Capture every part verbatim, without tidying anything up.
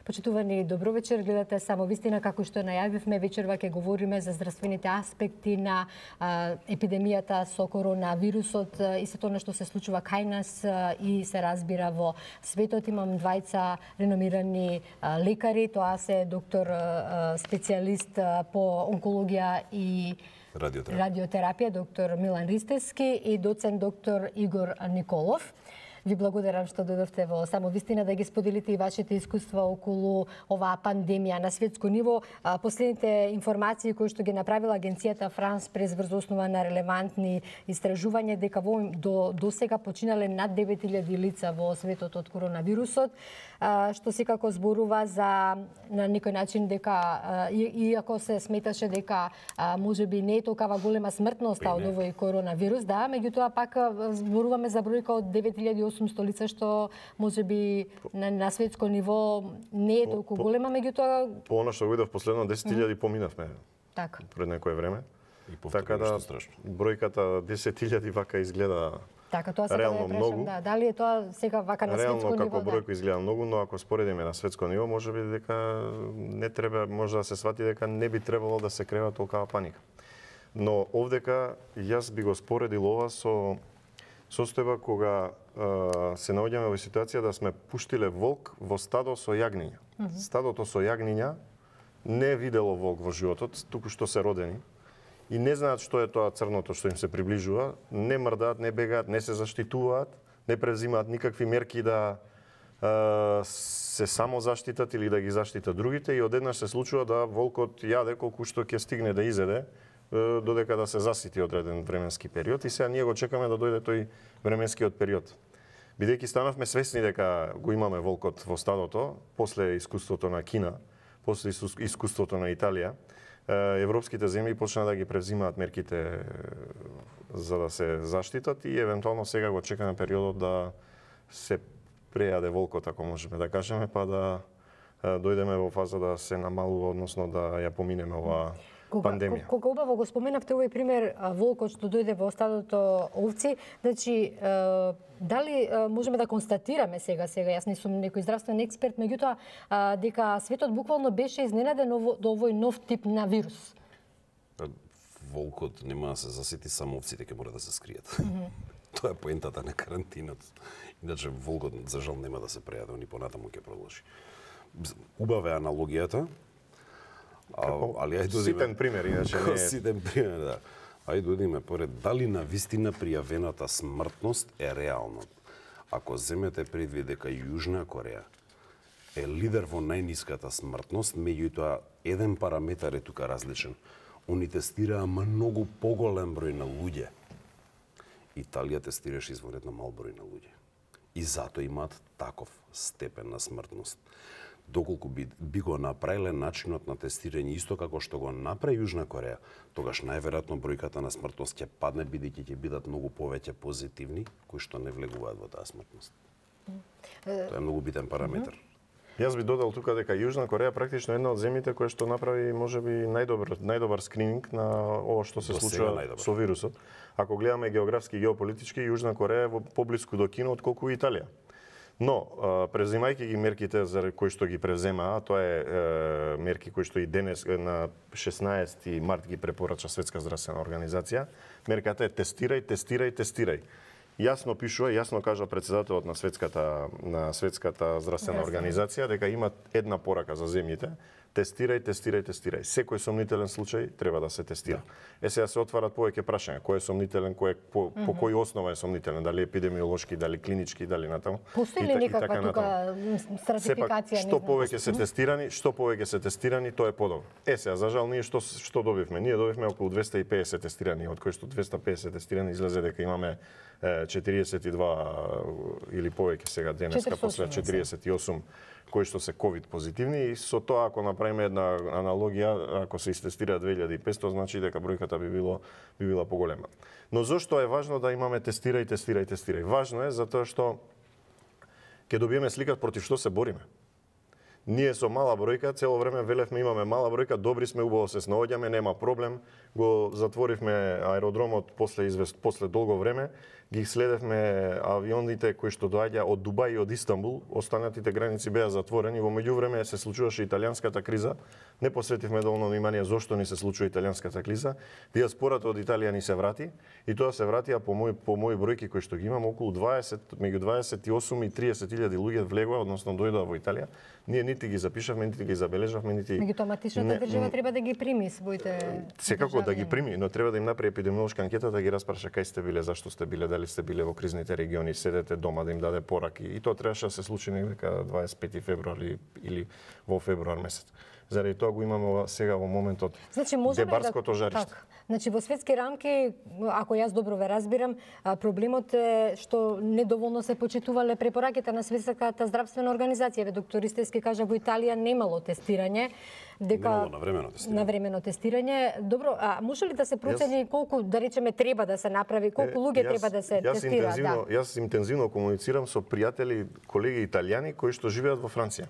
Почитувани, добро вечер, гледате Само вистина, како што најавивме, вечерва ќе говориме за здравствените аспекти на а, епидемијата со коронавирусот и се тоа што се случува кај нас а, и се разбира во светот. Имам двајца реномирани а, лекари, тоа се доктор а, специјалист а, по онкологија и радиотерапија. радиотерапија, доктор Милан Ристевски и доцент доктор Игор Николов. Ви благодарам што дојдовте во Само вистина да ги споделите и вашите искуства околу оваа пандемија на светско ниво. Последните информации кои што ги направила агенцијата Франс прес врз основа на релевантни истражувања дека во до до сега починале над девет илјади лица во светот од коронавирусот, што секако зборува за на некој начин дека иако се сметаше дека можеби не е толкова голема смртноста од овој коронавирус, да, меѓутоа пак зборуваме за бројка од девет илјади и осумсто лица што можеби на, на светско ниво не е толку по, голема, меѓутоа по она што видов последно десет илјади поминавме. Така. Пред некое време. И така да страшно. Бројката десет илјади вака изгледа така, тоа реално да многу. Да, дали е тоа сега вака на реално, светско ниво? Реално како бројка изгледа многу, но ако споредиме на светско ниво, можеби дека не треба, може да се свати дека не би требало да се крева толкава паника. Но овдека јас би го споредил ова со состојба кога а, се наоѓаме во ситуација да сме пуштиле волк во стадо со јагниња. Mm -hmm. Стадото со јагниња не видело волк во животот, туку што се родени. И не знаат што е тоа црното што им се приближува, не мрдаат, не бегаат, не се заштитуваат, не презимаат никакви мерки да а, се само заштитат или да ги заштитат другите и одеднаш се случува да волкот јаде колку што ќе стигне да изеде додека да се засити одреден временски период и сега ние го чекаме да дојде тој временскиот период. Бидејќи станавме свесни дека го имаме волкот во стадото, после искуството на Кина, после искуството на Италија, европските земји почна да ги превзимаат мерките за да се заштитат и евентуално сега го чекаме периодот да се прејаде волкот, ако можеме да кажеме, па да дојдеме во фаза да се намалува, односно да ја поминеме оваа Кога, пандемија. Кога убаво го споменавте овој пример волкот што дојде во стадото овци, значи дали можеме да констатираме сега сега јас не сум некој здравствен експерт, меѓутоа дека светот буквално беше изненаден до овој нов тип на вирус? Волкот нема да се засети, само овците ќе мора да се скријат. Mm -hmm. Тоа е поентата на карантинот. Иначе волкот за жал нема да се прејаде, ни понатаму ќе продолжи. Убава е аналогијата. А, али ајде додиме ситен пример, иначе не е ситен пример, да. Ајде додиме поред дали на вистина пријавената смртност е реална. Ако земете предвид дека Јужна Кореја е лидер во најниската смртност, меѓутоа еден параметар е тука различен. Они тестираа многу поголем број на луѓе. Италија тестираше извонетно мал број на луѓе. И затоа имаат таков степен на смртност. Доколку би, би го направиле начинот на тестирање исто како што го направи Јужна Кореја, тогаш најверојатно бројката на смртност ќе падне бидејќи ќе бидат многу повеќе позитивни кои што не влегуваат во таа смртност. Тоа е многу битен параметар. Јас би додал тука дека Јужна Кореја практично е една од земјите која што направи можеби најдобар најдобар скрининг на ова што се случува со вирусот. Ако гледаме географски и геополитички, Јужна Кореја е во поблиску до Кина отколку Италија. Но, превзимајќи ги мерките за кои што ги превземаа, тоа е, е мерки кои што и денес на шеснаесети март ги препорача Светска здравствена организација, мерката е тестирај, тестирај, тестирај. Јасно пишува, јасно кажа претседателот на Светската на Светската здравствена организација дека има една порака за земјите: тестирај, тестирај, тестирај. Секој сомнителен случај треба да се тестира. Е сега се отварат повеќе прашања, кој е сомнителен, кој е, по, mm -hmm. по кој основа е сомнителен, дали епидемиолошки, дали клинички, дали натаму. Постои ли некаква така тука стратификација? Што повеќе се тестирани, што повеќе се тестирани, тоа е подобро. Е сега за жал ние што што добивме? Ние добивме околу двесте и педесет тестирани, од кои што двесте и педесет тестирани излезе дека имаме четириесет и два или повеќе сега денеска после четириесет и осум кои што се ковид позитивни и со тоа ако направиме една аналогија, ако се истестира две илјади и петсто, значи дека бројката би било би била поголема. Но зошто е важно да имаме тестирај, тестирај, тестирај? Важно е затоа што ќе добиеме слика против што се бориме. Ние со мала бројка цело време велевме имаме мала бројка, добри сме, убаво се снаоѓаме, нема проблем. Го затворивме аеродромот после извест после долго време. ги следевме авионите кои што доаѓа од Дубај и од Истанбул, останатите граници беа затворени. Во меѓувреме се случуваше италијанската криза. Не посветивме доволно внимание зошто ни се случува италијанската криза. Диаспората од Италија ни се врати и тоа се вратија по мои по мои бројки кои што ги имам, околу дваесет, меѓу дваесет и осум и триесет илјади луѓе влегоа, односно дојдоа во Италија. Ние нити ги запишавме, нити ги забележавме, нити Меѓутоа матичната држава треба да ги прими своите секако да ги прими, но треба да им направи епидемиолошка анкета, да ги распраша кај сте биле, зашто сте биле, дали сте биле во кризните региони, седете дома, да им даде пораки. И тоа требаше да се случи некаде дваесет и пети февруари или во февруар месец. Заради тоа го имаме сега во моментот значи, Дебарското да, жариште. Так. Значи, во светски рамки, ако јас добро ве разбирам, проблемот е што недоволно се почитувале препораките на Светската здравствена организација. Ве доктор Ристевски кажа во Италија немало тестирање, дека немало навремено тестирање. Навремено тестирање. Добро, а може ли да се процени јас... колку, да речеме, треба да се направи, колку луѓе треба да се јас тестираат? Интензивно, да. Јас интензивно комуницирам со пријатели, колеги италијани кои што живеат во Франција.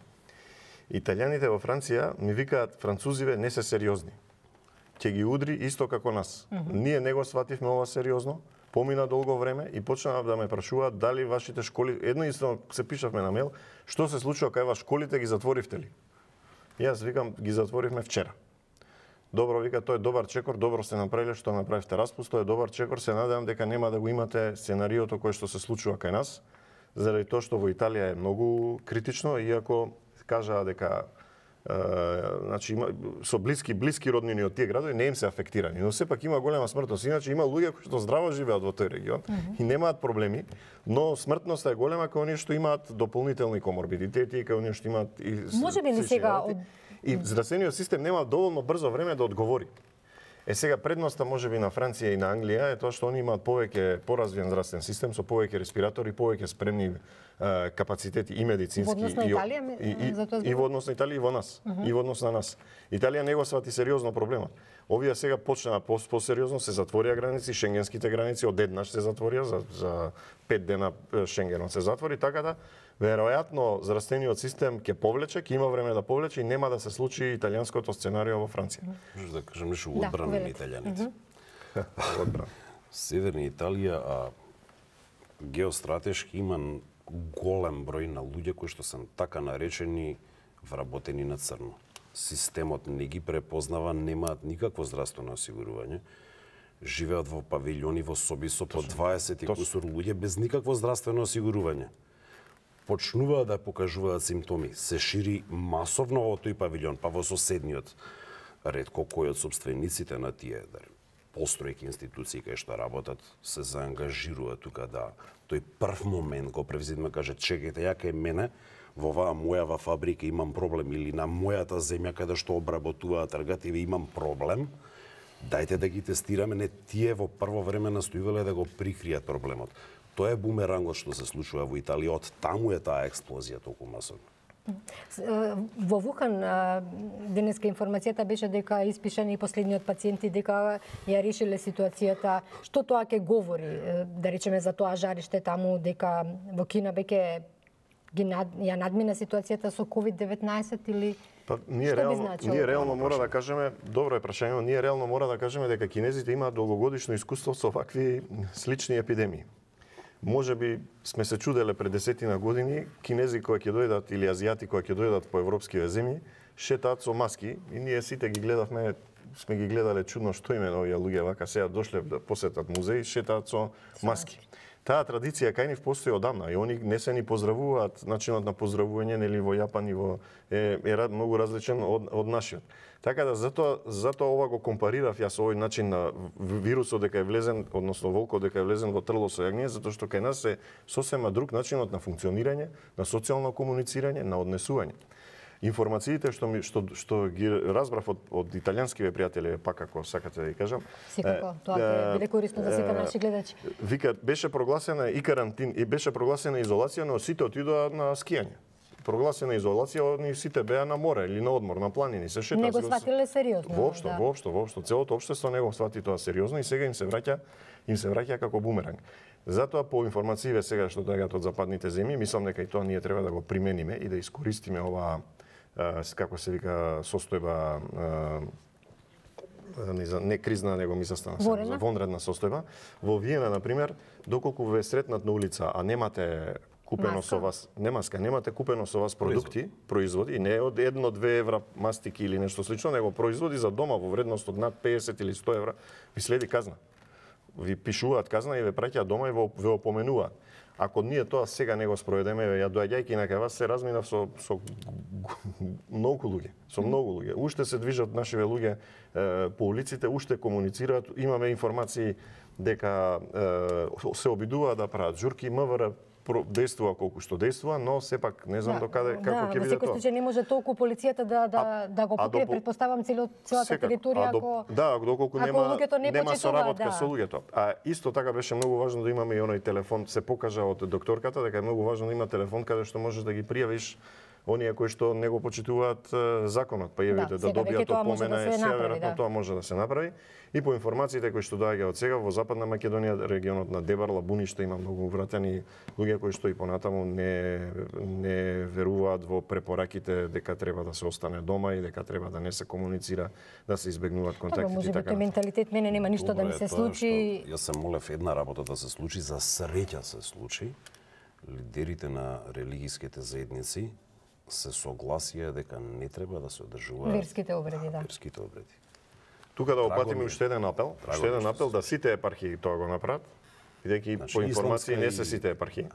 Италијаните во Франција ми викаат французиве не се сериозни. Ќе ги удри исто како нас. Mm -hmm. Ние не го свативме ова сериозно, помина долго време и почнаа да ме прашуваат дали вашите школи, едно исто се пишавме на мејл, што се случува кај вас школите, ги затворивте ли? Јас викам, ги затворивме вчера. Добро, вика, тој е добар чекор, добро сте направиле што направивте распуст, тој е добар чекор, се надевам дека нема да го имате сценариото кое што се случува кај нас, заради тоа што во Италија е многу критично, иако кажаа дека Uh, значи има со блиски блиски роднини од тие градови не им се афектирани, но сепак има голема смртност. Иначе има луѓе кои што здраво живеат во тој регион mm -hmm. и немаат проблеми, но смртноста е голема кај оние што имаат дополнителни коморбидитети, кај оние што имаат и може би не сега од... и здравствениот систем нема доволно брзо време да одговори. Е сега предноста можеби на Франција и на Англија е тоа што они имаат повеќе поразвиен здравствен систем со повеќе респиратори, повеќе спремни е, капацитети и медицински во однос на Италија, и, и, за тоа и во однос на Италија и во нас, uh -huh. и во однос на нас. Италија не го свати сериозно проблемот. Овие сега почнаа по-сериозно, се затворија граници, шенгенските граници одеднаш се затворија за за пет дена Шенгенот се затвори, така да веројатно здравствениот систем ќе повлече, ќе има време да повлече и нема да се случи италијанското сценарио во Франција. Може да кажам нешто во одбрана на италијаните. Одбрана. Северна Италија, а геостратешки има голем број на луѓе кои што се така наречени вработени на црно. Системот не ги препознава, немаат никакво здравствено осигурување. Живеат во павилјони, во соби со по дваесет и кусур луѓе без никакво здравствено осигурување. Почнуваат да покажуваат симптоми, се шири масовно во тој павилјон, па во соседниот. Ретко кој од собствениците на тие постројки институции кај што работат се заангажирува тука да тој прв момент го превземе, каже чекајте, ја кај мене во оваа мојава фабрика имам проблем или на мојата земја каде што обработуваат тргативи имам проблем. Дајте да ги тестираме, не тие во прво време настојувале да го прикријат проблемот. Тоа е бумерангот што се случува во Италија, од таму е таа експлозија толку масовна. Во Вухан денеска информацијата беше дека испишани последниот пациенти, дека ја решиле ситуацијата. Што тоа ќе говори, да речеме, за тоа жариште таму, дека во Кина веќе ги над, ја надмина ситуацијата со ковид деветнаесет или па, ние реално, ние реално мора да кажеме, добро е прашање, но ние реално мора да кажеме дека кинезите имаат долгогодишно искуство со вакви слични епидемии. Може би сме се чуделе пред десетина години, кинези кои ќе дојдат или азијати кои ќе дојдат по европските земји, шетаат со маски и ние сите ги гледавме, сме ги гледале чудно што име овие луѓе вака сега дошле да посетат музеи, шетаат со маски. Таа традиција кај нив постои одамна и они не се ни поздравуваат, начинот на поздравување нели во Јапан и во е, е многу различен од, од нашиот. Така да затоа затоа ова го компарирав јас овој начин на вирусот дека е влезен, односно волкот дека е влезен во трло со јагније, затоа што кај нас е сосема друг начинот на функционирање, на социјално комуницирање, на однесување. Информациите што ми што што ги разбрав од од италијанскиве пријатели, пак ако сакате да ги кажам. Секако, тоа ќе биде корисно за сите наши гледачи. Вика беше прогласена и карантин и беше прогласена изолација, но сите отидоа на скијање. Прогласена изолација, они сите беа на море или на одмор, на планини, се шетаа. Не го сватиле сериозно. Воопшто, да. воопшто, воопшто, целото општество не го свати тоа сериозно и сега им се враќа, им се враќа како бумеранг. Затоа по информациите сега што доаѓаат од западните земји, мислам дека и тоа ние треба да го примениме и да искористиме оваа како се вика состојба не кризна, него ми застана Вонредна? вонредна состојба. Во Виена, например, доколку ве сретнат на улица, а немате купено маска. со вас, не маска, немате купено со вас продукти, производи, не од едно-две евра мастики или нешто слично, него производи за дома во вредност од над песет или сто евра, ви следи казна. Ви пишуваат казна и ве праќаат дома и ве опоменуваат. Ако ние тоа сега не го спроведеме, ја доаѓајќи на кај вас се разминав со со многу луѓе, со многу луѓе. Уште се движат нашиве луѓе е, по улиците, уште комуницираат, имаме информации дека е, се обидуваат да прават журки, МВР действува колку што действува, но сепак не знам Да, докаде како ќе да, биде во секој тоа. случај не може толку полицијата да да А- да го а покрие, допол- претпоставам цело целата Секако. територија А до- ако да, доколку ако нема луѓето не нема почитуваат, соработка да. со луѓето. А исто така беше многу важно да имаме и оној телефон, се покажа од докторката дека е многу важно да има телефон каде што можеш да ги пријавиш оние кои што не го почитуваат е, законот, па еве да, да сега веќе добијат тоа може опомена, да се сега направи, веројатно да. тоа може да се направи. И по информациите кои што доаѓаат од сега во Западна Македонија, регионот на Дебарла, Буниште, има многу вратени луѓе кои што и понатаму не не веруваат во препораките дека треба да се остане дома и дека треба да не се комуницира, да се избегнуваат Добро, контактите може и би така тој натаму. менталитет мене нема ништо да ми Добро се е тоа случи. што Јас се молев една работа да се случи, за среќа се случи. Лидерите на религиските заедници се согласија дека не треба да се одржуваат Верските обреди, да. верските обреди. Тука да Драго опатиме ми е. уште еден апел, Драго уште ми е еден што апел се да сите епархии тоа го направат, бидејќи Значи, по информации исламска не и- се сите епархии.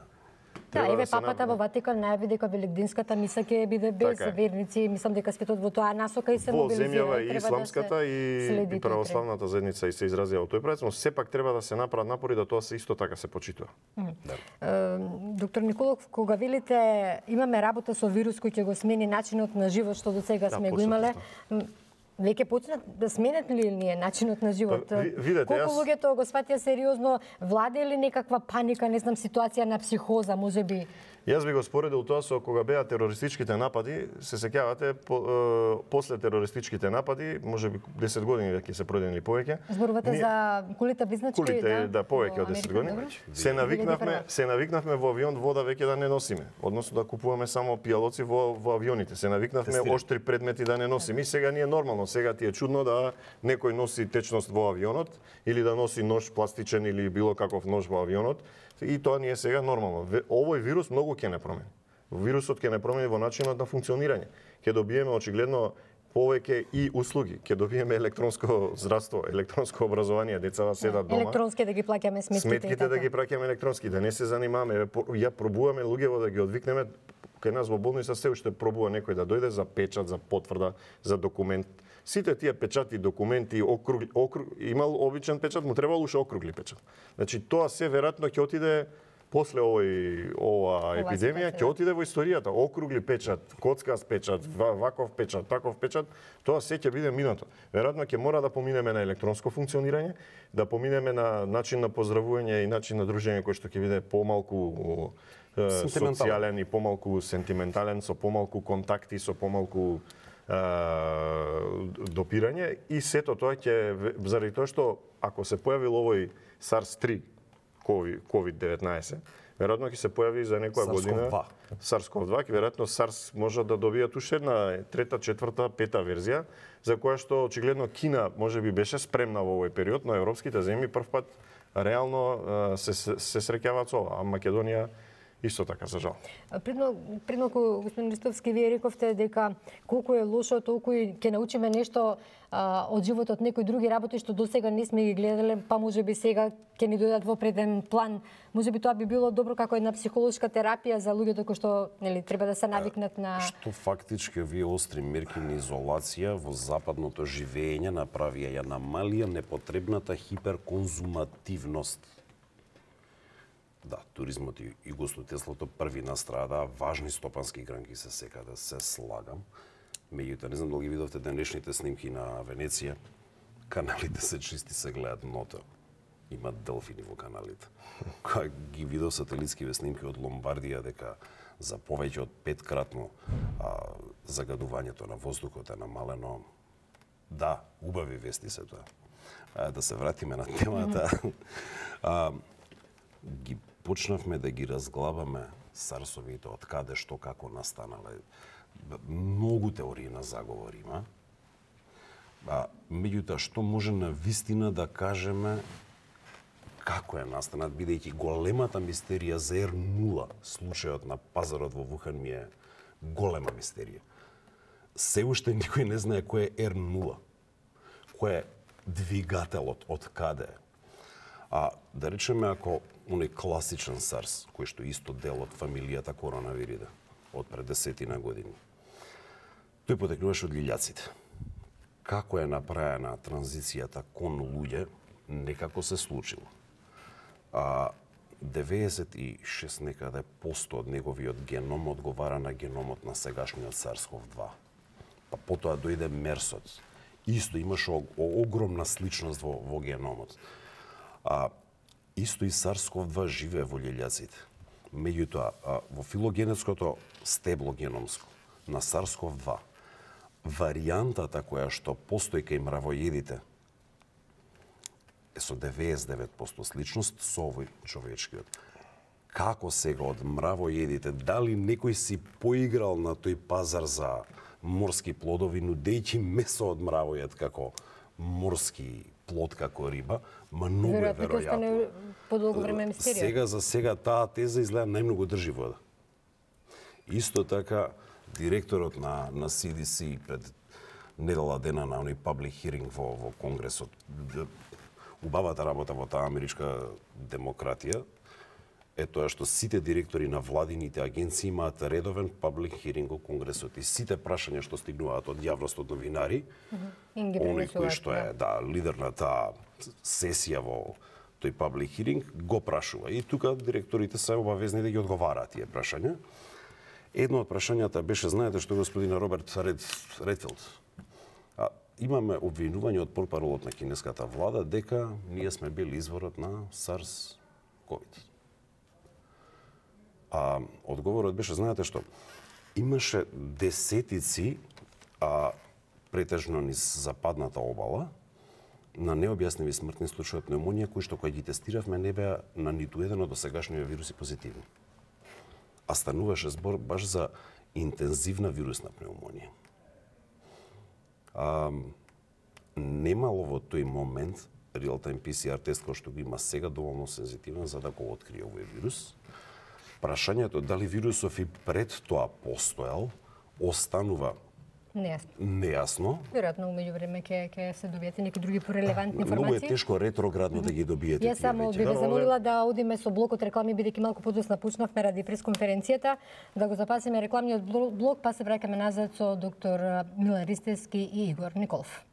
Да, Треба еве се папата направи. во Ватикан најави дека великденската миса ќе биде без Така е. верници. Мислам дека светот во тоа насока и се Во мобилизира. земјава и и треба исламската да се и, следи и тој православната заедница и се изразија во тој правец, но сепак треба да се направат напори да тоа се исто така се почитува. Е, Доктор Николов, кога велите имаме работа со вирус кој ќе го смени начинот на живот што до сега Да, сме го почнат имале, со м, веќе почнат да сменат ли ние начинот на живот? Па, ви- видете, Колку јас- луѓето го сватија сериозно, владе ли некаква паника, не знам, ситуација на психоза, можеби? Јас би го споредил тоа со кога беа терористичките напади, се сеќавате по, е, после терористичките напади, можеби десет години веќе се продени повеќе. Зборувате ние- за кулите близначки, Кулите, да, повеќе во од десет Америка, години. добро? Се навикнавме, две илјади и прва. се навикнавме во авион вода веќе да не носиме, односно да купуваме само пијалоци во во авионите. Се навикнавме Тестирам. оштри предмети да не носиме. И сега ни е нормално, сега ти е чудно да некој носи течност во авионот или да носи нож пластичен или било каков нож во авионот. И тоа ни е сега нормално. Ве- Овој вирус многу ќе не промени. Вирусот ќе не промени во начинот на функционирање. Ќе добиеме очигледно повеќе и услуги. Ќе добиеме електронско здравство, електронско образование, децата седат дома. Електронски да ги плаќаме сметките. и Сметките да така. ги праќаме електронски, да не се занимаваме. Еве, по- Ја пробуваме луѓево да ги одвикнеме. Кај нас во болница се уште пробува некој да дојде за печат, за потврда, за документ. Сите тие печати, документи, округли, округ, имал обичен печат, му требало уште округли печат. Значи тоа се веројатно ќе отиде после овој ова епидемија, ситуација, ќе отиде во историјата. Округли печат, коцкаст печат, ва- ваков печат, таков печат, тоа се ќе биде минато. Веројатно ќе мора да поминеме на електронско функционирање, да поминеме на начин на поздравување и начин на дружење кој што ќе биде помалку е, Сентиментален. социјален и помалку сентиментален, со помалку контакти, со помалку е, допирање и сето тоа ќе заради тоа што ако се појавил овој SARS три ковид деветнаесет, веројатно ќе се појави за некоја година SARS-CoV-два. SARS-CoV-два, ќе веројатно SARS може да добијат уште една трета, четврта, пета верзија, за која што очигледно Кина можеби беше спремна во овој период, но европските земји првпат реално е, се, се, се среќаваат со ова, а Македонија исто така, за жал. Предно, предноку, господин Ристовски, вие рековте дека колку е лошо, толку и ќе научиме нешто а, од животот, некои други работи што досега не сме ги гледале, па можеби сега ќе ни дојдат во преден план. Можеби тоа би било добро како една психолошка терапија за луѓето кои што нели треба да се навикнат на Што фактички овие остри мерки на изолација во западното живење направија ја намалија непотребната хиперконзумативност. Да, туризмот и, и гостотелството први настрадаа, важни стопански гранки се секаде, се слагам. Меѓутоа, не знам дали ги видовте денешните снимки на Венеција, каналите се чисти, се гледаат дното. Има делфини во каналите. Кога ги видов сателитскиве снимки од Ломбардија дека за повеќе од петкратно а, загадувањето на воздухот е намалено. Да, убави вести се тоа. А, да се вратиме на темата. а, ги почнавме да ги разглабаме сарсовите, од каде, што, како настанале. Многу теории на заговор има. А, меѓутоа, што може на вистина да кажеме како е настанат, бидејќи големата мистерија за ер нула, случајот на пазарот во Вухан ми е голема мистерија. Се уште никој не знае кој е ер нула, кој е двигателот, од каде е. А да речеме, ако оној класичен SARS, кој што исто дел од фамилијата коронавириде, од пред десетина години, тој потекнуваше од лилјаците. Како е направена транзицијата кон луѓе, некако се случило. А деветдесет и шест некаде посто од неговиот геном одговара на геномот на сегашниот SARS-ков два. Па потоа дојде мерсот. Исто имаше огромна сличност во, во геномот. А исто и SARS-ков два живее во лилјаците. Меѓутоа, во филогенетското стебло геномско на SARS-ков два, варијантата која што постои кај мравоедите е со деветдесет и девет посто сличност со овој човечкиот. Како сега од мравоедите, дали некој си поиграл на тој пазар за морски плодови, нудејќи месо од мравоед како морски плод, како риба, ма многу е веројатно. Веројатно подолго време мистерија. Сега за сега таа теза изгледа најмногу држи вода. Исто така, директорот на, на Си Ди Си пред недела дена на оној public hearing во, во Конгресот, убавата работа во таа америчка демократија е тоа што сите директори на владините агенции имаат редовен public hearing во Конгресот и сите прашања што стигнуваат од јавност, од новинари, оној кој што е да, лидер на таа сесија во тој public hearing, го прашува. И тука директорите се обавезни да ги одговараат тие прашања. Едно од прашањата беше, знаете што господин Роберт Ред, Редфилд, а, имаме обвинување од портпаролот на кинеската влада дека ние сме били изворот на SARS-ковид. А одговорот беше, знаете што, имаше десетици, а претежно низ западната обала, на необјасневи смртни случаи од пневмонија, кои што кога ги тестиравме не беа на ниту еден од досегашниот вируси позитивни. А стануваше збор баш за интензивна вирусна пневмонија. А, немало во тој момент реал-тайм Пи Си Ар тест кој што го има сега доволно сензитивен за да го открие овој вирус. Прашањето дали вирусов и пред тоа постоел останува нејасно. Нејасно. Веројатно умеѓу време ќе ќе се добиете некои други порелевантни информации. Многу е тешко ретроградно да ги добиете тие. Јас само би ве замолила да одиме со блокот реклами, бидејќи малку подоцна почнавме ради пресконференцијата, да го запасиме рекламниот блок, па се враќаме назад со доктор Милан Ристевски и Игор Николов.